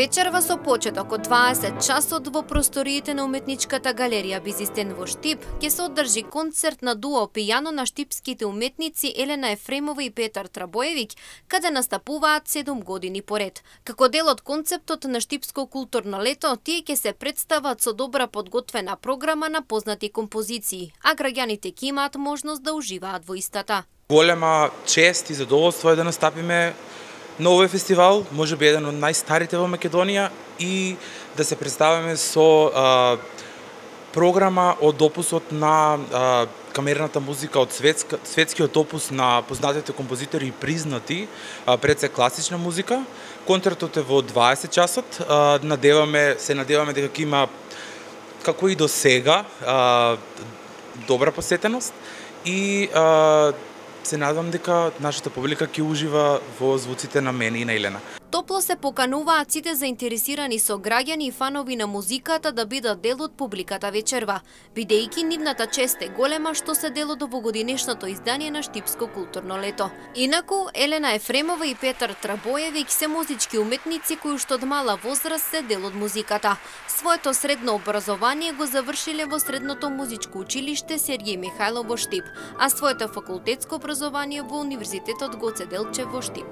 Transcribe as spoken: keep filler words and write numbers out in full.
Вечерва со почеток од дваесет часот во просториите на уметничката галерија Бизистен во Штип ќе се одржи концерт на дуо пијано на штипските уметници Елена Ефремова и Петар Трабоевиќ, каде настапуваат седум години поред. Како дел од концептот на Штипско културно лето, тие ќе се представат со добра подготвена програма на познати композиции, а граѓаните ќе имаат можност да уживаат во истата. Голема чест и задоволство е да настапиме на овој фестивал, може би еден од најстарите во Македонија, и да се представиме со а, програма од опусот на а, камерната музика, од светска, светскиот опус на познатите композитори и признати, а, пред се класична музика. Концертот е во дваесет часот, а, надеваме, се надеваме дека ќе има, како и до сега, а, добра посетеност и а, се надам дека нашата публика ќе ужива во звуците на мене и на Елена. Топло се покануваат сите заинтересирани со граѓани и фанови на музиката да бидат дел од публиката вечерва, бидејќи нивната чест е голема што се дел од овогодинешното издание на Штипско културно лето. Инаку, Елена Ефремова и Петар Трабоевиќ се музички уметници кои уште од мала возраст се дел од музиката. Своето средно образование го завршиле во Средното музичко училиште Сергеј Михајлов во Штип, а своето факултетско образование во Универзитетот Гоце Делчев во Штип.